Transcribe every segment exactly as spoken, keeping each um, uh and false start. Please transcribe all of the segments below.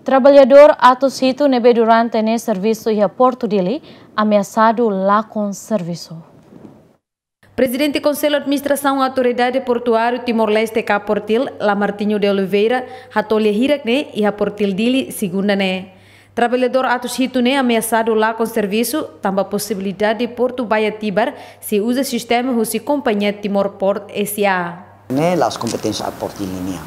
Traballadór atus hitu ne'ebé durante ne'e servisu iha Portu Dili ameasadu lakon servisu. Prezidente Konsellu Administrasaun Autoridade Portuáriu Timor-Leste ka Portil, Lamartinho de Oliveira, hato'o lia hirak ne'e iha Portil Dili, segunda ne'e. Traballadór atus hitu ne'e ameasadu lakon servisu, tanba posibilidade portu Baía Tibar sei uza sistema husi kompañia Timor Port S A. Ne'e la'ós kompeténsia Portu Dili nian.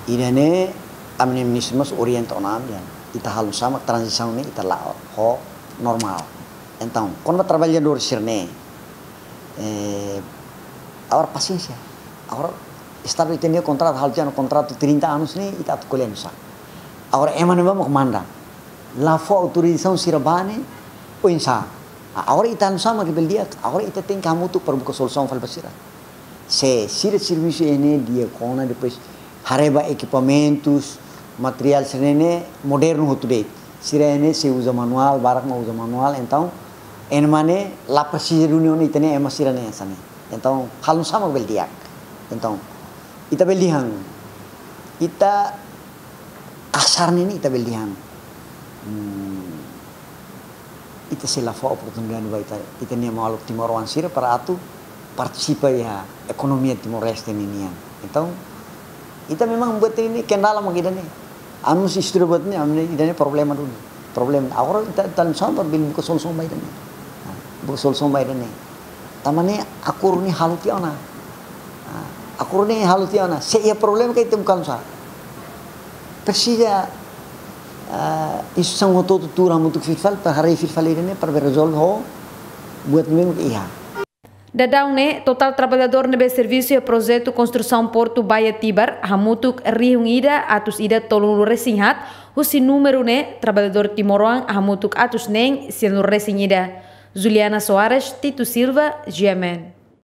Ida-ne'e, ami-nia ministru mós orienta ona ami, ita halo nu'usá mak tranzisaun ne'e ita la'o ho normál. Entaun, kona-ba traballadór sira-ne'e, eh, agora pasiénsia. Agora Estadu ita-nia kontratu, halo tiha ona kontratu trinta anos ne'e, ita atu ko'alia nu'usá. Agora ema ne'ebá mak manda. La fó autorizasaun sira bá ne'e, oinsá. A-, agora ita nu'usá mak bele di'ak, agora ita tenke hamutuk para buka solusaun fali ba sira. Se sira servisu iha ne'e di'ak ona, depois haree ba ekipamentus, materiál sira-ne'e modernu hotu de'it. Sira iha ne'e sei uza manuál, barak mak uza manuál, entaun ema ne'e la presiza duni ona ita-nia ema sira-ne'e hanesan ne'e. Entaun halo nu'usá mak bele di'ak. Entaun ita bele dehan, ita kasar ne'e ita bele dehan, hmm, ita sei la fó oportunidade ba ita, ita-nia maluk timoroan sira para atu partisipa iha ekonomia Timor-Leste ninian. Entaun ita memang buat ne'e kendala mak ida-ne'e. Ami mós estuda buat ne'e, ami ida-ne'e problema duni. Problema. Agora ita, ita nu'usá mak bele buka solusaun ba ida-ne'e. Nah, buka solusaun ba ida-ne'e. Tanba ne'e akordu ne'e halo tiha ona. Nah, akordu ne'e halo tiha ona. Se iha problema karik ita buka nu'usá. Presiza, ah, instituisaun hotu-hotu tuur hamutuk fila fali, para haree fila fali ida-ne'e, para bele rezolve ho buat ne'ebé mak iha. Daudaun ne'e, totál traballadór ne'ebé servisu iha projetu konstrusaun portu Baía Tibar hamutuk rihun ida atus ida tolunulu resin haat, husi númeru ne'e traballadór timoroan hamutuk atus neen sianulu resin ida. Juliana Soares, Tito Silva, G M N.